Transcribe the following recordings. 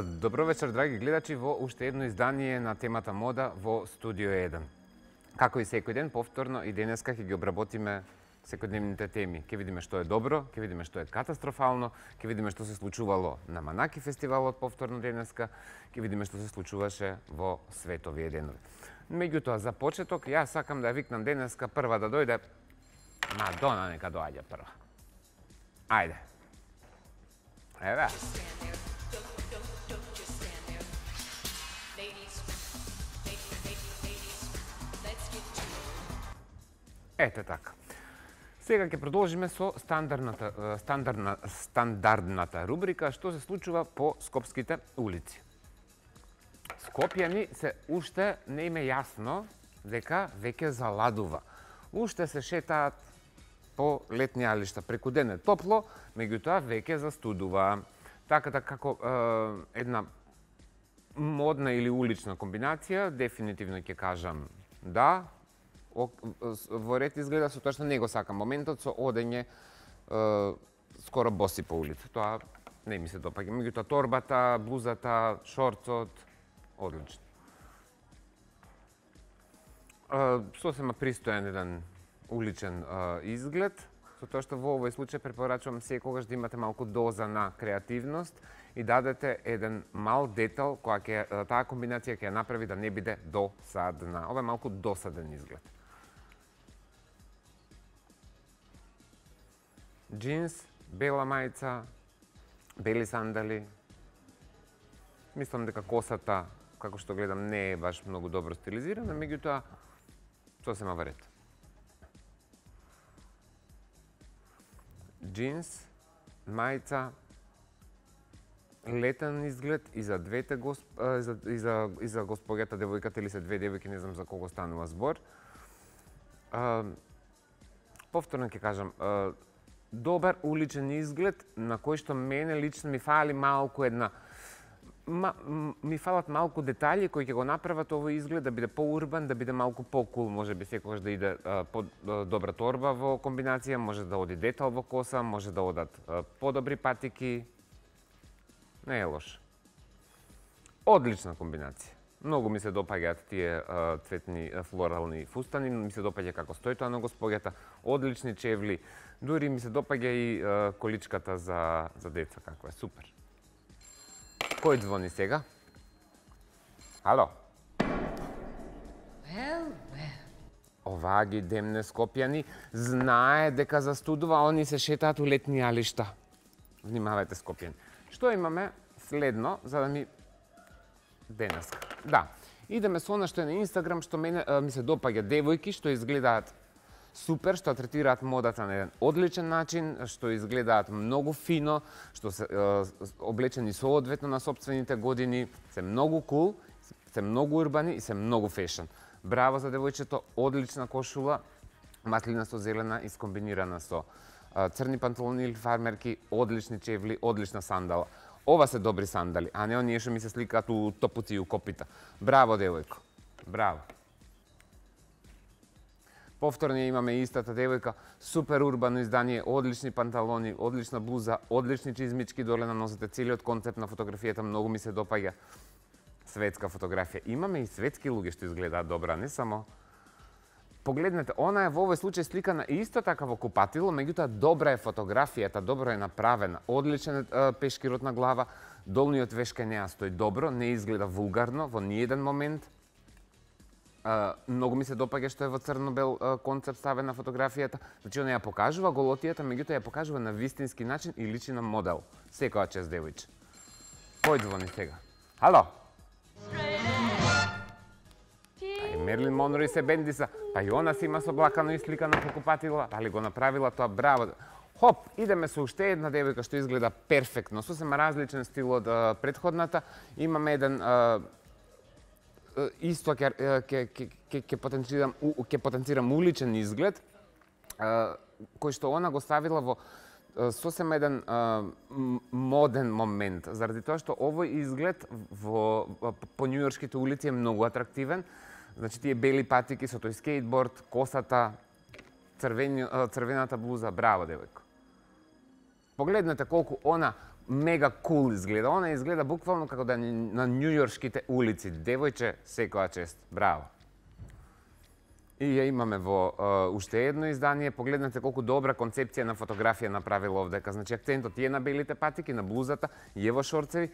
Добро вечер, драги гледачи, во уште едно издание на темата мода во Студио 1. Како и секој ден, повторно и денеска ќе ги обработиме секојдневните теми. Ќе видиме што е добро, ќе видиме што е катастрофално, ќе видиме што се случувало на Манаки фестивалот повторно денеска, ќе видиме што се случуваше во световие денови. Меѓутоа, за почеток, јас сакам да ја викнам денеска прва да дојде Мадона, нека доаѓа прва. Ајде. Еве. Ете така. Сега ќе продолжиме со стандардната рубрика што се случува по скопските улици. Скопјани се уште не им е јасно дека веќе заладува. Уште се шетаат по летни алишта. Преку ден е топло, меѓутоа веќе застудува. Така да како една модна или улична комбинација, дефинитивно ќе кажам да. Во ред изгледа, со тоа што не го сакам моментот со одење скоро боси по улица. Тоа не ми се допаѓа. Меѓутоа торбата, блузата, шорцот, одлично. Сосема пристоен еден уличен изглед, со тоа што во овој случај препорачувам секогаш да имате малку доза на креативност и дадете еден мал детал која таа комбинација ќе ја направи да не биде досадна. Ова е малку досаден изглед. Джинс, бела мајца, бели сандали. Мислам дека косата, како што гледам, не е баш многу добро стилизирана, меѓутоа сосема во ред. Джинс, мајца, летен изглед и за двете и за госпоѓата, девојката или се две девојки, не знам за кого станува збор. Повторно ќе кажам, добар уличен изглед на кој што мене лично ми фали малку ми фалат малку детали кои ќе го направат овој изглед да биде поурбан, да биде малку покул, можеби секогаш да иде добра торба во комбинација, може да оди детал во коса, може да одат подобри патики. Не е лош. Одлична комбинација. Многу ми се допаѓаат тие цветни флорални фустани, ми се допаѓа како стои тоа на госпоѓата, одлични чевли, дури ми се допаѓа и количката за деца, како е, супер. Кој звони сега? Ало? Оваа ги демне скопјани, знае дека застудува, они се шетаат у летни алишта. Внимавајте, скопјани. Што имаме следно, за да ми денеска? Да, идеме со она што е на Инстаграм, што мене ми се допаѓа, девојки што изгледаат супер, што третираат модата на еден одличен начин, што изгледаат многу фино, што се облечени соодветно на сопствените години, се многу кул, се многу урбани и се многу фешн. Браво за девојчето, одлична кошула, маслинасто зелена искомбинирана со црни панталони или фармерки, одлични чевли, одлична сандала. Ова се добри сандали, а не оние што ми се сликаат у топуци и у копита. Браво, девојко. Браво. Повторно имаме истата девојка, супер урбано издание, одлични панталони, одлична блуза, одлични чизмички доле на носите, целиот концепт на фотографијата многу ми се допаѓа. Светска фотографија. Имаме и светски луѓе што изгледаат добра, не само. Погледнете, она е во овој случај сликана исто така во купатило, меѓутоа добра е фотографијата, добро е направена, одличен пешкирот на глава, долниот веш кај неа стои добро, не изгледа вулгарно во ниеден момент. Многу ми се допаѓа што е во црно-бел концепт ставена фотографијата, значи она ја покажува голотијата, меѓутоа ја покажува на вистински начин и личи на модел. Секоја чест, девојче. Кој звони сега? Ало? Мерлин Монро и се бендиса, па и она си има соблакано и сликано по купатила, дали го направила тоа, браво. Хоп, идеме со уште една девојка што изгледа перфектно, сосема различен стил од претходната. Имаме еден исто ќе потенцирам уличен изглед, кој што она го ставила во сосема еден моден момент, заради тоа што овој изглед по њујоршките улици е многу атрактивен. Значи, тие бели патики со тој скейтборд, косата, црвената блуза, браво, девојко. Погледнете колку она мега кул изгледа. Она изгледа буквално како да е на њујоршките улици. Девојче, секоја чест. Браво. И ја имаме во уште едно издание. Погледнете колку добра концепција на фотографија направила овдека. Значи, акцентот е на белите патики, на блузата, и е во шорцеви,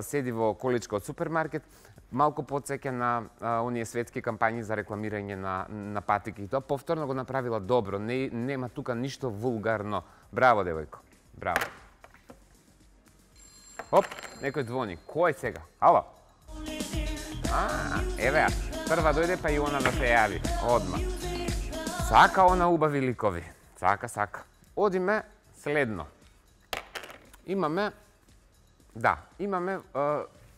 седи во количка од супермаркет, малку подсеќа на оние светски кампањи за рекламирање на патики. И тоа повторно го направила добро. Нема тука ништо вулгарно. Браво, девојко. Браво. Оп, некој звони. Кој сега? Ало? Еве ја. Прва дојде, па и она да се јави. Одма. Сака она убави ликови. Сака. Одиме следно. Имаме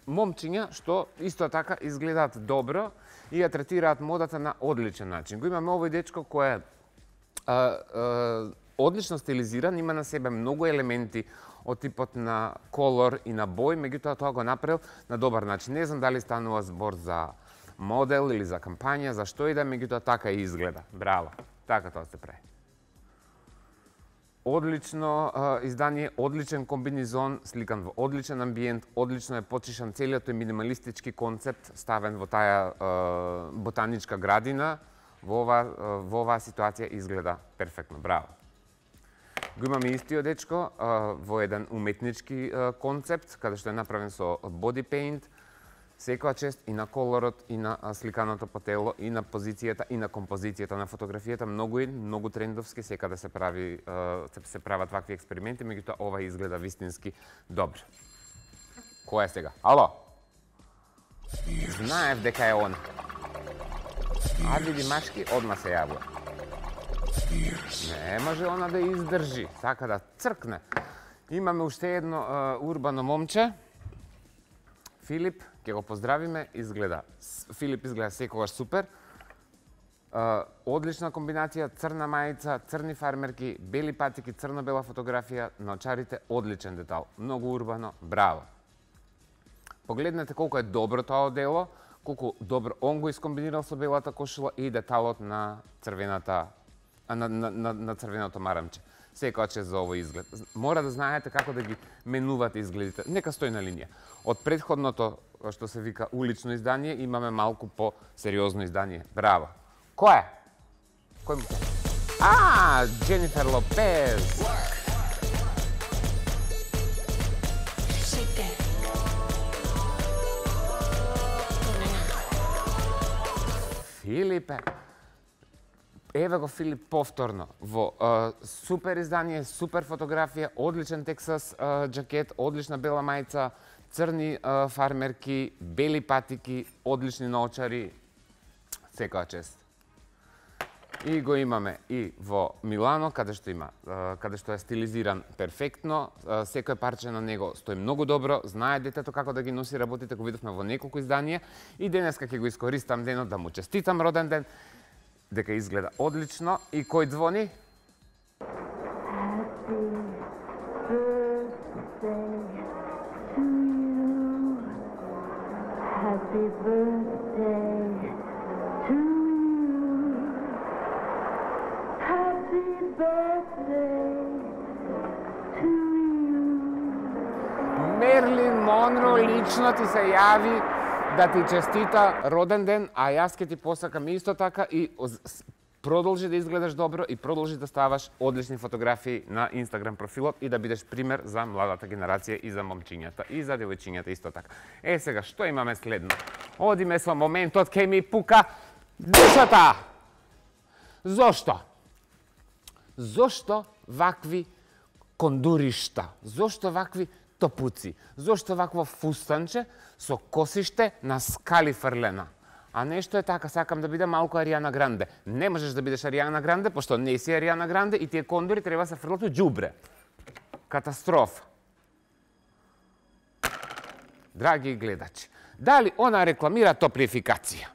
момчиња што исто така изгледаат добро и ја третираат модата на одличен начин. Го имаме овој дечко кој е одлично стилизиран, има на себе многу елементи од типот на колор и на бој, меѓутоа тоа го направил на добар начин. Не знам дали станува збор за модел или за кампања, за што и да, меѓутоа така и изгледа. Браво. Така тоа се прави. Одлично издание, одличен комбинизон, сликан во одличен амбиент, одлично е почишан целиот тој минималистички концепт, ставен во таа ботаничка градина. Во оваа ситуација изгледа перфектно. Браво. Го имаме истиот дечко во еден уметнички концепт, каде што е направен со body paint. Секоја чест и на колорот, и на сликаното по тело, и на позицијата, и на композицијата на фотографијата. Многу трендовски, секаде се прават вакви експерименти, меѓутоа ова изгледа вистински добро. Кој е сега? Ало? Знаев дека е он. А види машки, одма се јавува. Не може она да издржи, сака да цркне. Имаме уште едно урбано момче. Филип, ќе го поздравиме, Филип изгледа секогаш супер. Одлична комбинација, црна мајца, црни фармерки, бели патики, црно-бела фотографија, на очарите одличен детал. Многу урбано, браво. Погледнете колку е добро тоа одело, колку добро он го искомбинирал со белата кошула и деталот на црвената на црвеното марамче. Секоја чест за овој изглед. Мора да знаете како да ги менувате изгледите. Нека стои на линија. Од претходното, што се вика улично издание, имаме малку по-сериозно издание. Браво. Кој е? Кој му? Дженифер Лопез. Филипе. Еве го Филип повторно во супер издание, супер фотографија, одличен Тексас джакет, одлична бела мајца, црни фармерки, бели патики, одлични наочари, секоја чест. И го имаме и во Милано, каде што е стилизиран перфектно, секој парче на него стои многу добро, знае детето како да ги носи работите, го видовме во неколку изданија и денеска ќе го искористам денот да му честитам роден ден, дека изгледа одлично. И кој звони? Happy birthday to you. Happy birthday to you. Мерлин Монро лично ти се јави да ти честита роден ден, а јас ќе ти посакам исто така и продолжи да изгледаш добро и продолжи да ставаш одлични фотографии на Инстаграм профилот и да бидеш пример за младата генерација и за момчињата и за девојчињата исто така. Сега, што имаме следно? Одиме со моментот, ке ми пука душата! Зошто? Зошто вакви кондуришта? Зошто вакви топуци? Зошто вакво фустанче со косиште на скали фрлена? А нешто е така, сакам да биде малку Аријана Гранде. Не можеш да бидеш Аријана Гранде, пошто не си Аријана Гранде и тие кондури треба се фрлат у џубре. Катастрофа. Драги гледачи, дали она рекламира топлификација?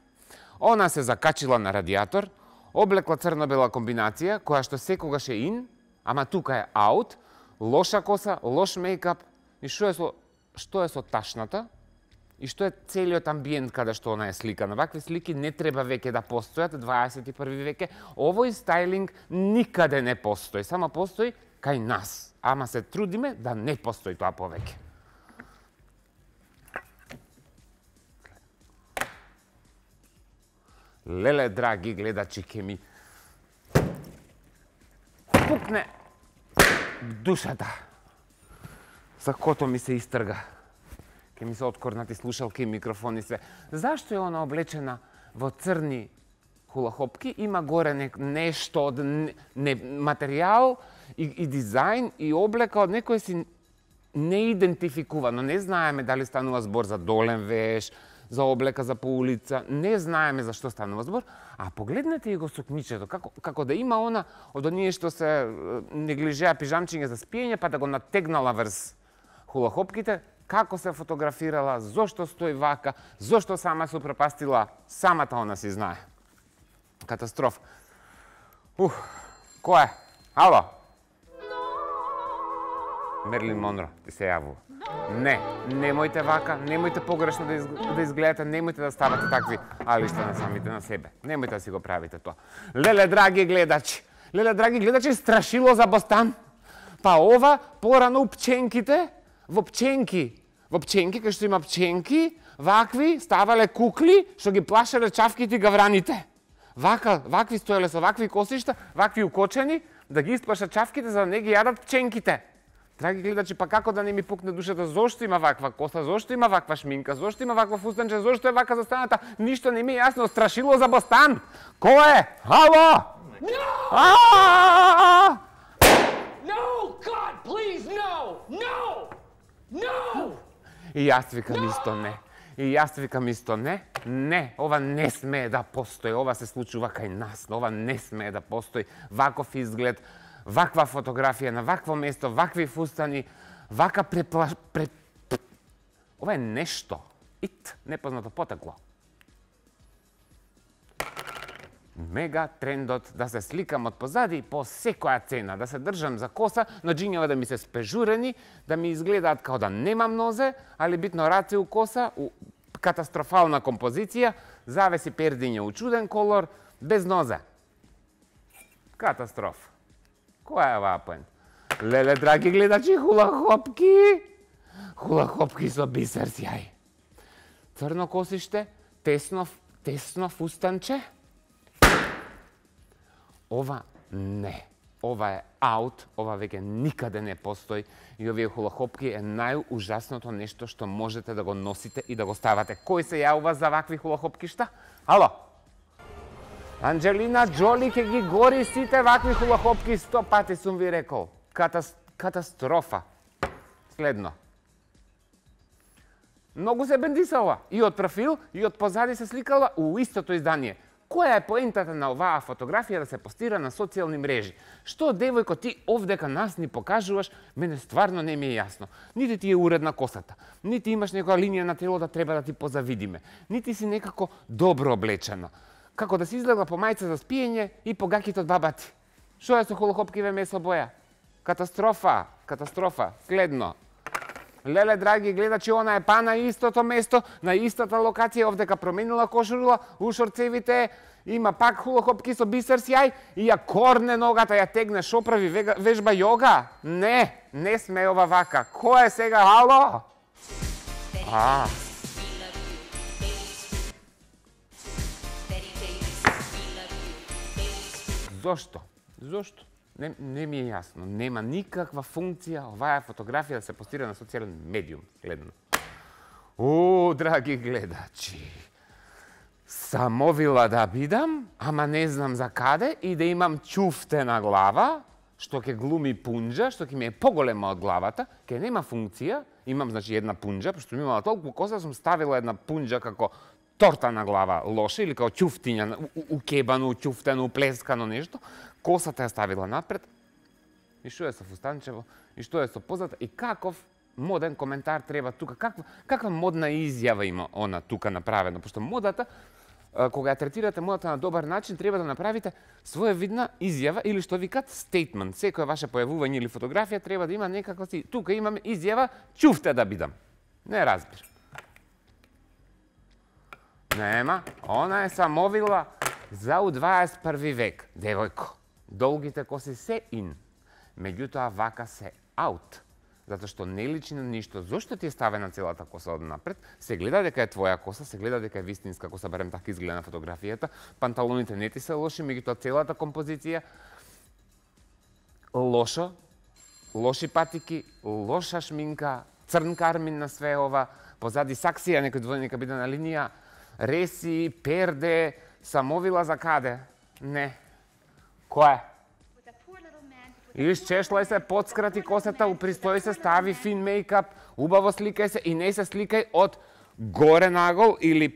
Она се закачила на радиатор, облекла црно-бела комбинација, која што секогаш е ин, ама тука е аут, лоша коса, лош мејкап, и што е со ташната? И што е целиот амбиент каде што она е сликана. Вакви слики не треба веќе да постојат, 21 веке. Овој стајлинг никаде не постои, само постои кај нас. ама се трудиме да не постои тоа повеќе. Леле, драги гледачи, ке ми пукне душата. Сакото ми се истрга. Ке ми се откорнати слушалки и микрофони све. Зашто е она облечена во црни хулахопки? Има горе нешто од материјал и дизајн и облека од некој си неидентификувано. Не знаеме дали станува збор за долен веш, за облека за по улица, не знаеме за што станува збор, а погледнете и го сукничето, како да има она од оние што се неглижеа пижамчиња за спиење, па да го натегнала врз хулахопките, како се фотографирала, зошто стои вака, зошто сама се упропастила, самата она си знае. Катастрофа. Кој е? Ало? Мерлин Монро, ти се јавува. Не, немојте вака, немојте погрешно да изгледате, немојте да ставате такви алишта на самите на себе. Немојте да си го правите тоа. Леле, драги гледачи, страшило за Бостан. Па ова, порано у пченките, во пченки, кај што има пченки, вакви ставале кукли, што ги плашеле чавките и гавраните. Вакви стоеле со вакви косишта, вакви укочени, да ги исплашат чавките, за да не ги јадат пченките. Драги гледачи, па како да не ми пукне душата, зошто има ваква коса, зошто има ваква шминка, зошто има ваква фустанче, зошто е вака застаната, ништо не ми е јасно, страшило за Бостан. Кој е? Ало? No, God, please, no! И јас викам исто не. Не, ова не смее да постои, ова се случува кај нас, ова не смее да постои, ваков изглед, ваква фотографија на вакво место, вакви фустани, вака Ова е нешто, непознато потекло. Мега трендот да се сликам од позади по секоја цена, да се држам за коса, но џињава да ми се спежурени, да ми изгледаат као да немам нозе, али битно раце у коса, катастрофална композиција, завеси пердиње у чуден колор, без нозе. Катастроф. Која е оваа поент? Леле, драги гледачи, хулахопки! Хулахопки со бисер сјај. Црно косиште, тесно фустанче. Ова не. Ова е аут, ова веќе никаде не постои и овие хулахопки е најужасното нешто што можете да го носите и да го ставате. Кој се јавува за вакви хулахопкишта? Ало? Анџелина Џоли ќе ги гори сите вакви хулахопки, 100 пати сум ви рекол. Катастрофа. Следно. Многу се бендисала. И од профил, и од позади се сликала у истото издание. Која е поентата на оваа фотографија да се постира на социјални мрежи? Што, девојко, ти овдека нас ни покажуваш, мене стварно не ми е јасно. Нити ти е уредна косата, нити имаш некоја линија на тело да треба да ти позавидиме, нити си некако добро облечена. Како да си излегла по мајца за спиење и по гаките од баба ти. Што е со хулахопкиве месо боја? Катастрофа, катастрофа. Следно. Леле, драги гледачи, она е па на истото место, на истата локација, овдека променила кошула, у шорцевите, има пак хулахопки со бисер сјај и ја корне ногата, ја тегне, шо прави, вежба јога? Не сме ова вака. Кој е сега, ало? Зошто? Не ми е јасно. Нема никаква функција оваа фотографија да се постира на социјален медиум. Следно. Драги гледачи, самовила да бидам, ама не знам за каде, и да имам чуфтена глава, што ќе глуми пунџа, што ќе ми е поголема од главата, ќе нема функција, имам, значи, една пунџа, пошто ми имала толку коса, сум ставила една пунџа како торта на глава лоше, или као чуфтиња, укебано, чуфтено, уплескано нешто, косата ја ставила напред, и што е со фустанчево, и што е со позата, и каков моден коментар треба тука, каква модна изјава има она тука направено, пошто модата, кога ја третирате модата на добар начин, треба да направите своевидна изјава, или што викат statement. Секој ваше појавување или фотографија треба да има некако си, тука имаме изјава, чуфте да бидам. Не разбирам. Нема, она е самовила за у 21 век, девојко. Долгите коси се ин, меѓутоа вака се аут. Затоа што не личи на ништо. Зошто ти е ставена целата коса од напред? Се гледа дека е твоја коса, се гледа дека е вистинска коса, барем така изгледа на фотографијата. Панталоните не ти се лоши, меѓутоа целата композиција лошо, лоши патики, лоша шминка, црн кармин на све ова, позади саксија, некој двојника биде на линија, реси, перде, самовила за каде? Не. Кој? Исчешлај се, подскрати косата, упристои се, стави фин мејкап, убаво сликај се и не се сликај од горе нагол или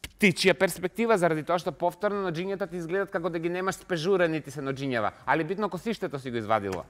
птичја перспектива, заради тоа што повторно ноџињата ти изгледат како да ги немаш спежурени ти се ноџињава. Али битно косиштето си го извадила.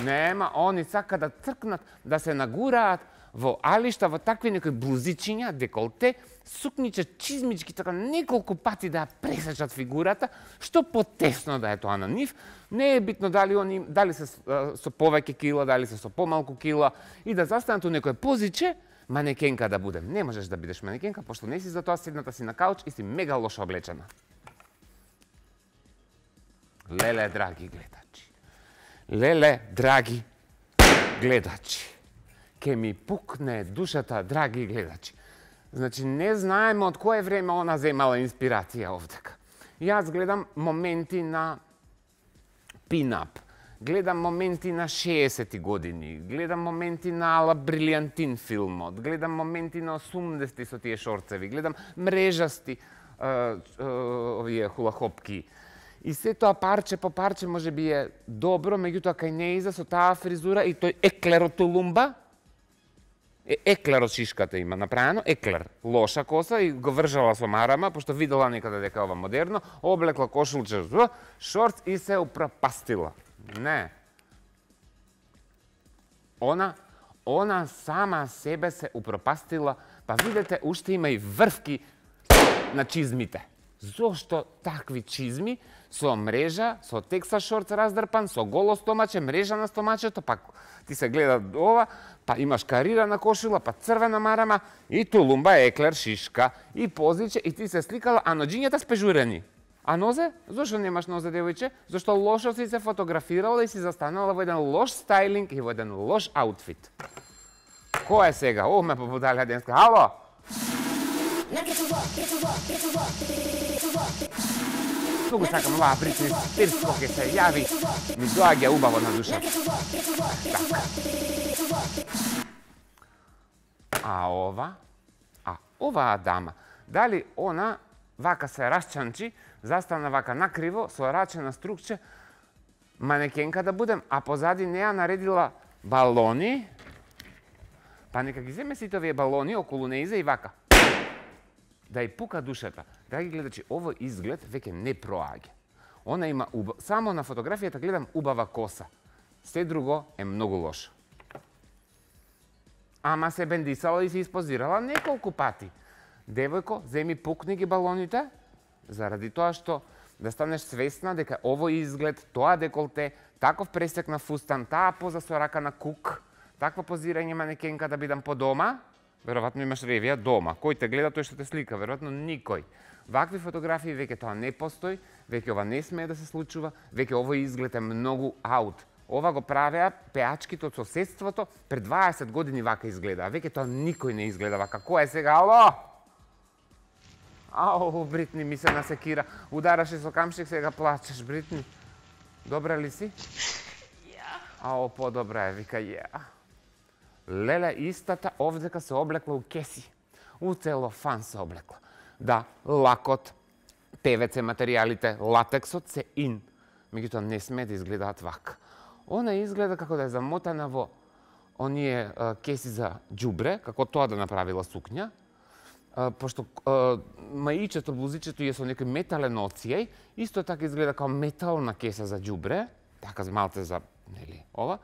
Нема, они сака да цркнат, да се нагураат во алишта, во такви некои блузичиња, деколте, сукниче, чизмички, така неколку пати да ја пресечат фигурата, што потесно да е тоа на нив. Не е битно дали се со повеќе кила, дали се со помалку кила, и да застанат у некој позиче, манекенка да будем. Не можеш да бидеш манекенка, пошто не си за тоа, седната си на кауч и си мега лошо облечена. Леле, драги гледачи. Леле, драги гледачи. Ке ми пукне душата, драги гледачи. Значи, не знаеме од кое време она земала инспирација овдека. Јас гледам моменти на пинап, гледам моменти на 60-ти години, гледам моменти на Ала Брилијантин филмот, гледам моменти на 80-ти со тие шорцеви, гледам мрежасти овие хулахопки. И се тоа парче по парче може би е добро, меѓутоа кај неиза со таа фризура и тој еклер од тулумба, еклер од шишката има направено, еклер, лоша коса и го вржала со марама, пошто видела некаде дека ова модерно, облекла кошулче, шорц и се упропастила. Не. Она сама себе се упропастила, па видете, уште има и врвки на чизмите. Зошто такви чизми со мрежа, со текса шорц раздрпан, со голо стомаче, мрежа на стомачето, па ти се гледа ова, па имаш карирана кошула, па црвена марама, и тулумба, еклер, шишка, и позиче, и ти се сликала, а ноџињата спежурени. А нозе? Зошто немаш нозе, девојче? Зошто лошо си се фотографирала и си застанала во еден лош стајлинг и во еден лош аутфит. Кој е сега? О, ме побудалја денска. Ало? Туку сакам оваа Бритни Спирс, кој се јави, ми доаѓа убаво на душа. А оваа дама, дали она вака се расчанчи, застана вака накриво, со раче на струкче, манекенка да будем, а позади неа наредила балони, па нека ги земе сите овие балони околу неиза и вака. Да ја пука душата. Драги гледачи, овој изглед веќе не проаѓа. Она има само на фотографијата гледам убава коса. Се друго е многу лошо. Ама се бендисала и се испозирала неколку пати. Девојко, земи пукни ги балоните, заради тоа што да станеш свесна дека овој изглед, тоа деколте, таков пресек на фустан, таа поза со рака на кук, такво позирање манекенка да бидам по дома, веројатно имаш ревија дома. Кој те гледа, тој што те слика, веројатно никој. Вакви фотографии веќе тоа не постои, веќе ова не смее да се случува, веќе овој изглед е многу аут. Ова го правеа пеачките од соседството, пред 20 години вака изгледа, веќе тоа никој не изгледа вака. Кој е сега? Ало? Ау, Бритни ми се насекира. Удараше со камшик, сега плачеш, Бритни. Добра ли си? Ау, подобра е, вика, Леле, истата овдека се облекла у кеси. У целофан се облекла. Да, лакот, ПВЦ материјалите, латексот се ин. Меѓутоа не сме да изгледаат вака. Она изгледа како да е замотана во оние кеси за џубре, како тоа да направила сукња. Пошто маичето, блузичето е со некој метален оцијај, исто така изгледа како метална кеса за џубре, така малце за, нели, ова.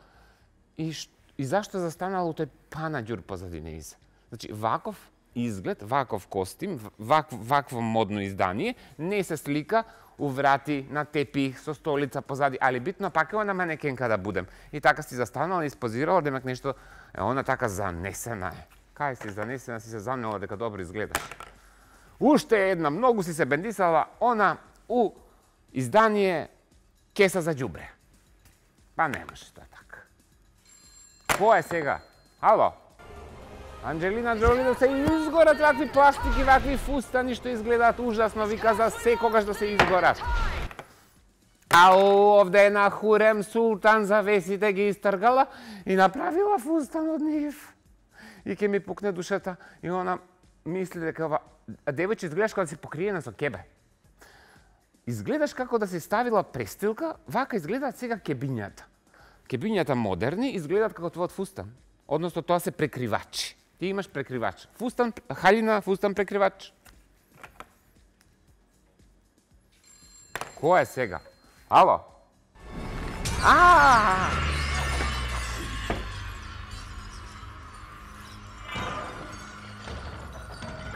И зашто застанала у тој панаѓур позади неиза? Значи, ваков изглед, ваков костим, вакво модно издание, не се слика у врати на тепих со столица позади, али битно пак е она манекенка да будем. И така си застанала и испозирала, демек нешто, она така занесена е. Кај си занесена, си се занела дека добро изгледаш. Уште една, многу си се бендисала, она у издание Кеса за џубре. Па не може тоа така. Кој е сега? Ало? Анџелина Джоли да се изгорат вакви пластики, вакви фустани што изгледаат ужасно, вика за секогаш да се изгорат. А овде една Хурем Султан завесите ги истргала и направила фустан од нив. И ќе ми пукне душата и она мисли дека ова девојче изгледаш како да си покриена со кебе. Изгледаш како да си ставила престилка, вака изгледаат сега кебињата. Кебињата модерни изгледаат како твојот фустан. Односно тоа се прекривачи. Ти имаш прекривач. Фустан, халина, фустан прекривач. Кој е сега? Ало?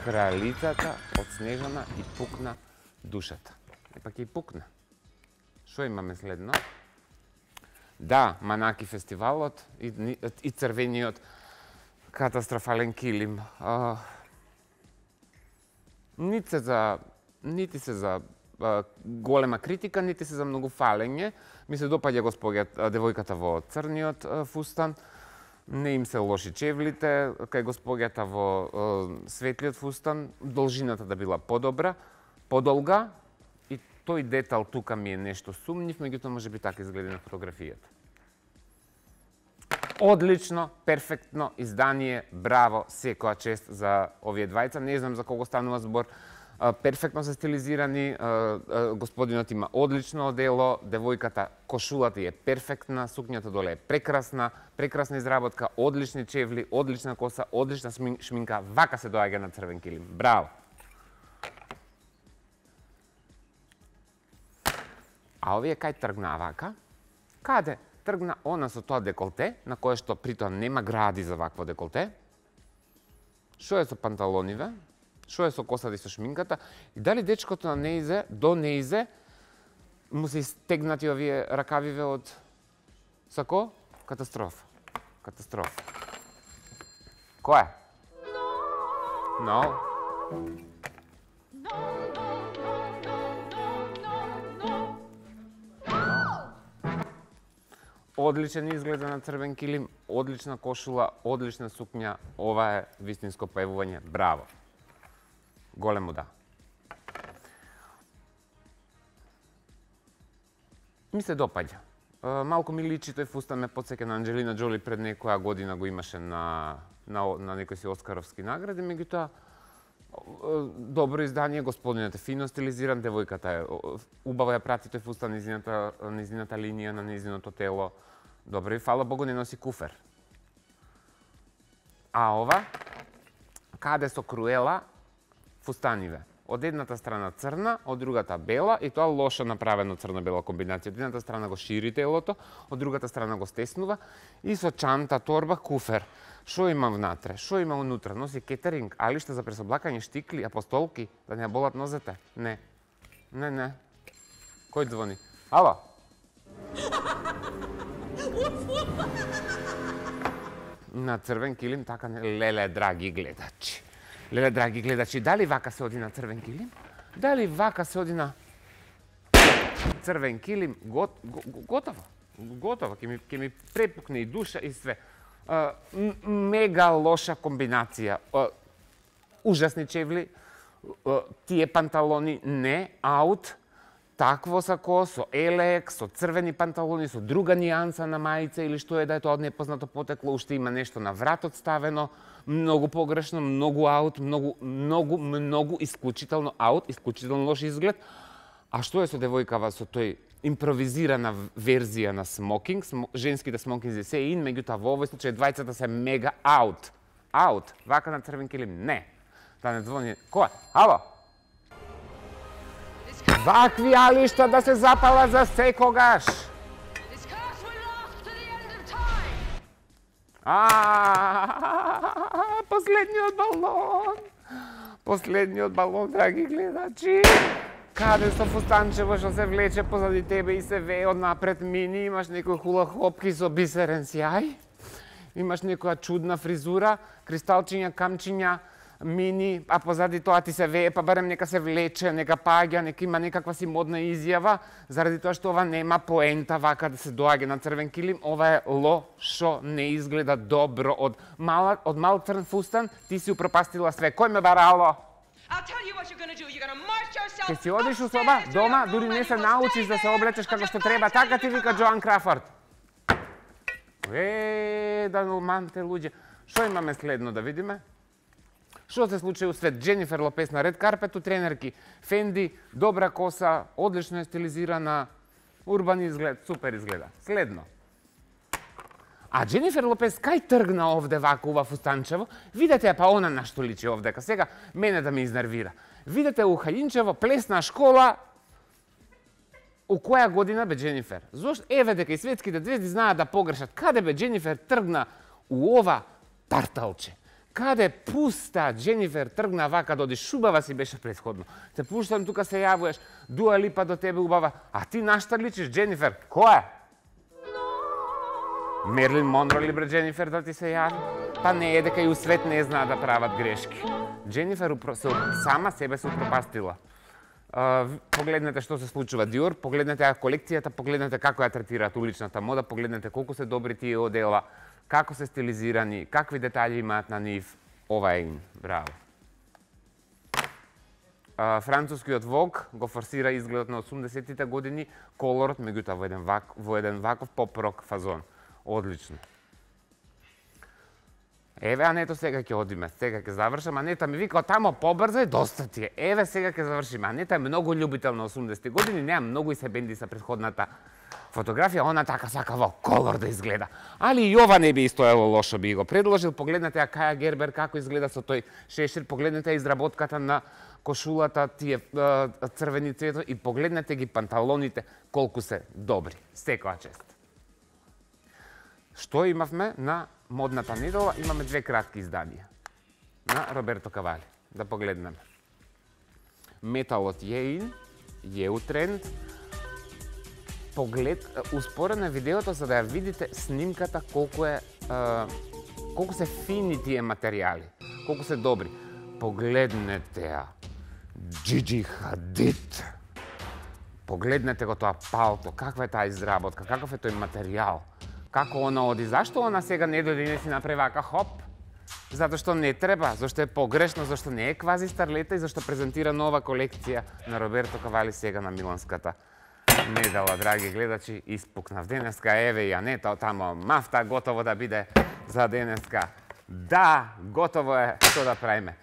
Кралицата од Снежана и пукна душата. И пак и пукна. Шо имаме следно? Да, Манаки фестивалот и црвениот катастрофален килим. Нити се за голема критика, нити се за многу фалење. Ми се допаѓа девојката во црниот фустан. Не им се лоши чевлите, кај госпоѓата во светлиот фустан, должината да била подобра, подолга, и тој детал тука ми е нешто сумнив, меѓутоа може би така изгледа на фотографијата. Одлично, перфектно издание, браво, секоја чест за овие двајца. Не знам за кого станува збор. Перфектно се стилизирани, господинот има одлично одело, девојката, кошулата е перфектна, сукњата доле е прекрасна, прекрасна изработка, одлични чевли, одлична коса, одлична шминка, вака се доаѓа на црвен килим. Браво! А овие кај тргна вака? Каде? Тргна она со тоа деколте, на кое што притоа нема гради за вакво деколте. Шо е со панталониве? Шо е со косата и со шминката? И дали дечкото на неизе, до неизе, му се истегнати овие ракавиве од сако? Катастрофа. Катастрофа. Кој е? No. Одличен изглед на црвен килим, одлична кошула, одлична сукња. Ова е вистинско певување. Браво. Големо да. Ми се допаѓа. Малку ми личи тој фустан, ме потсеќа на Анџелина Джоли пред некоја година го имаше на некој си оскаровски награди, меѓутоа добро издание, господинот е фино стилизиран, девојката е убаво ја прати тој фустан низината линија на низиното тело. Добро и фала Богу не носи куфер. А ова каде со Круела фустаниве. Од едната страна црна, од другата бела, и тоа лошо направено црно-бела комбинација. Од едната страна го шири телото, од другата страна го стеснува и со чанта, торба, куфер. Шо има внатре? Шо има унутра? Носи кетеринг, алишта за пресоблакање, штикли, апостолки, да не болат нозете? Не. Не. Кој звони? Ало? На црвен килим така не, леле, драги гледачи. Леле, драги гледачи, дали вака се оди на црвен килим? Дали вака се оди на црвен килим? Готово. Готово. Ке ми препукне и душа и све. Мега лоша комбинација. Ужасни чевли. Тие панталони не, аут. Такво сако, со елек, со црвени панталони, со друга нијанса на мајца или што е да е тоа од непознато потекло, уште има нешто на вратот ставено, многу погрешно, многу аут, многу исклучително аут, исклучително лош изглед. А што е со девојкава со тој импровизирана верзија на смокинг? Женските смокинзи се ин, меѓутоа во овој случај двајцата се мега аут. Аут, вака на црвен килим, не. Да не звони. Кој? Ало? Вакви алишта да се запала за секогаш. Последниот балон. Последниот балон, драги гледачи. Каде со фустанчево што се влече позади тебе и се вее од напред мини, имаш некој хула хопки со бисерен сјај, имаш некоја чудна фризура, кристалчиња, камчиња, мини, а позади тоа ти се вее, па барем нека се влече, нека паѓа, нека има некаква си модна изјава, заради тоа што ова нема поента вака да се доаѓа на црвен килим, ова е лошо, не изгледа добро. Од мал црн фустан ти си упропастила све. Кој ме барало? Ке си одиш у соба, дома, дури не се научиш да се облечеш како што треба, така ти вика Джоан Крафорд. Да нормалните луѓе. Што имаме следно да видиме? Што се случи у свет? Дженифер Лопес на ред карпет, тренерки Фенди, добра коса, одлично е стилизирана, урбан изглед, супер изгледа. Следно. А Дженифер Лопес кај тргна овде вака ува фустанчево, видете ја па она на што личи овдека. Сега мене да ме изнервира. Видете у Хајинчево плесна школа. У која година бе Дженифер? Зошто еве дека и светските звезди знаат да погрешат. Каде бе Дженифер тргна у ова парталче? Каде пуста Дженифер тргна вака да одиш? Убава си беше претходно. Те пуштам тука се јавуваш, Дуа Липа до тебе убава, а ти нашта личиш Дженифер. Која? Мерлин Монро ли бре Дженифер да ти се јави? Па не е дека и у свет не знаа да прават грешки. Дженифер сама себе се упропастила. Погледнете што се случува Диор, погледнете ја колекцијата, погледнете како ја третираат уличната мода, погледнете колку се добри тие одела, како се стилизирани, какви детали имаат на нив. Ова е им. Браво. Францускиот Vogue го форсира изгледот на 80-тите години, колорот, меѓутоа во еден ваков поп-рок фазон. Одлично. Еве, Ането, сега ќе одиме, сега ќе завршам. Анета ми вика, тамо побрзо и доста ти е. Еве, сега ќе завршиме. Анета е многу љубител на 80-ти години, нема многу и се бенди со претходната фотографија, она така сака во колор да изгледа. Али и ова не би истоело лошо, би го предложил. Погледнете ја Каја Гербер како изгледа со тој шешир, погледнете ја изработката на кошулата, тие црвени цветови и погледнете ги панталоните колку се добри. Секоја чест. Што имавме на модната недела? Имаме две кратки изданија на Роберто Кавали. Да погледнеме. Металот е ин, е у тренд. Успорено е видеото за да ја видите снимката колку се фини тие материјали, колку се добри. Погледнете ја. Джиджи Хадид. Погледнете го тоа палто, каква е таа изработка, каков е тој материјал. Како она оди? Зашто она сега не дојде и не си направи вака хоп? Затоа што не треба, зашто е погрешно, зашто не е квази старлета и зашто презентира нова колекција на Роберто Кавали сега на миланската недела, драги гледачи. Испукнав денеска, еве и Анета тамо, мафта готово да биде за денеска. Да, готово е, што да правиме.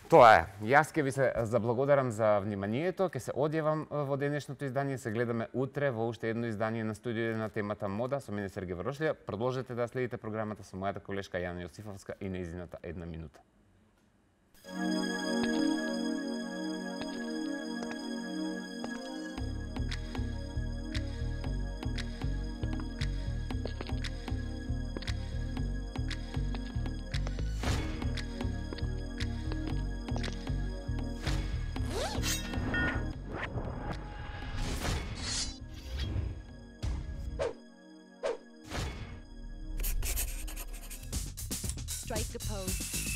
Тоа е. Јас ќе ви се заблагодарам за вниманието, ќе се одјавам во денешното издание, се гледаме утре во уште едно издание на студио на темата мода со мене Сергеј Варошлија. Продолжете да следите програмата со мојата колешка Јана Јосифовска и нејзината една минута. Strike a pose.